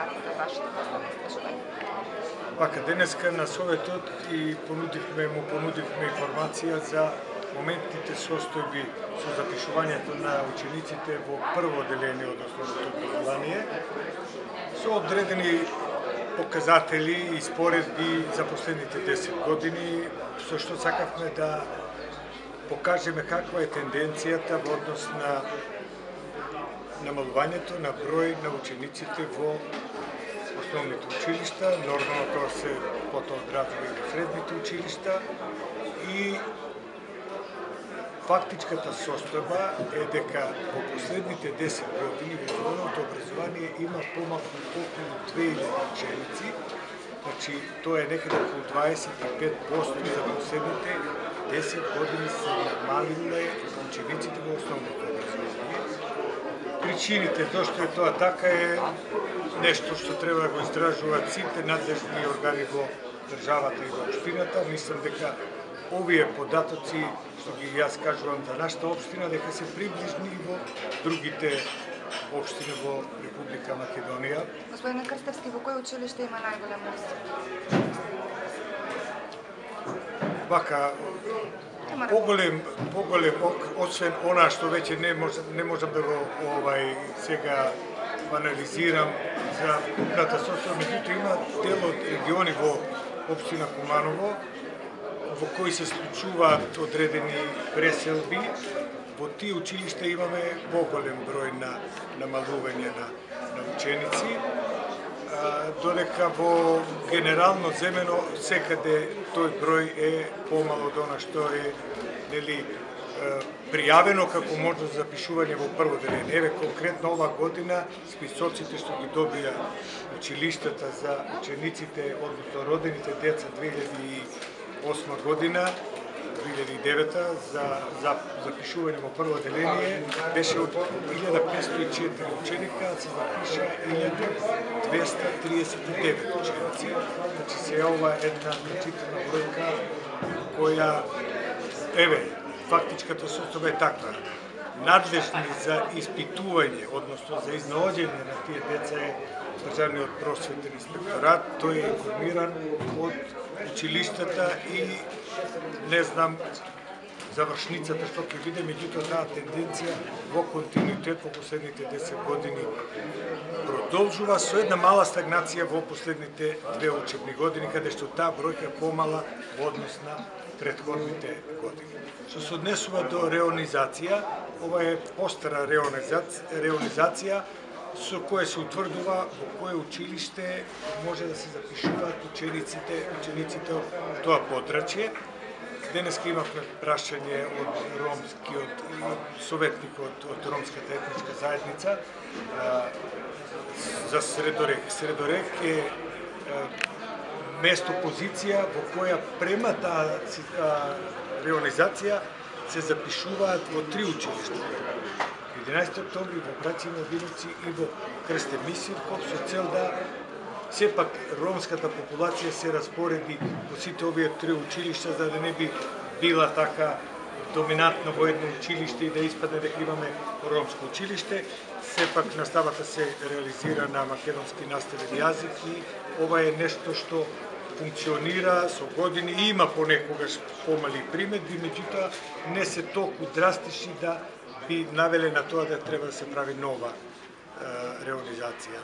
резултати за вашите наставни истражувања? Вака, денеска на Советот и му понудивме информација за моментните состојби со запишувањето на учениците во прво одделение од основното образование, со одредени показатели и споредби за последните 10 години, со што сакавме да покажеме каква е тенденцијата во однос на намалувањето на број на учениците во основните училишта, нормално тоа се потоа одразува и во средните училишта, и фактичката состојба е дека во последните 10 години во основното образование има помалку околу 2000 ученици, значи тоа е некаде околу 25% за последните 10 години се намалиле учениците во основното образование. Причините зашто е тоа така е нешто што треба да го истражуваат сите надлежни органи во државата и во општината. Мислам дека овие податоци што ги јас кажувам за нашата општина, дека се приближни и во другите општини во Република Македонија. Господине Крстевски, во кој училиште има најголем Вака, поголем, освен она што веќе не можам да го сега анализирам за купната состојба, меѓутоа има дел од региони во општина Куманово во кои се случуваат одредени преселби. Во тие училишта имаме поголем број на намалување на ученици, додека во генерално земено секаде тој број е помал од она што е пријавено како можност за запишување во прво одделение. Еве конкретно ова година списоците што ги добија училиштата за учениците, односно родените деца 2008 година, 2009 за запишување во прво одделение беше од 1504 ученика, се запиша 1239 ученици. Значи се ова една значителна бројка која фактичката состојба е таква. Надлежни за испитување, односно за изнаоѓање на тие деца е Државниот просветен инспекторат. Тој е информиран од училиштата и не знам завршницата што ќе биде, меѓутоа таа тенденција во континуитет во последните 10 години продолжува со една мала стагнација во последните 2 учебни години, каде што таа бројка е помала во однос на претходните години. Што се однесува до реонизација, ова е постара реонизација со која се утврдува во кое училиште може да се запишуваат учениците од тоа подрачје. Денеска имавме прашање од ромскиот советникот од ромската етничка заедница за Средореќ. Средореќ е место позиција во која према таа реонизација се запишуваат во 3 училишта. 11 октомври во Браќа Младиновци и во Крстев Мисирков, со цел да сепак ромската популација се распореди во сите овие 3 училишта, за да не би била така доминантно во едно училиште и да испадне дека имаме ромско училиште. Сепак наставата се реализира на македонски наставен јазик и ова е нешто што функционира со години и има понекогаш помали приметби, меѓутоа не се толку драстични да би навеле на тоа да треба да се прави нова реализација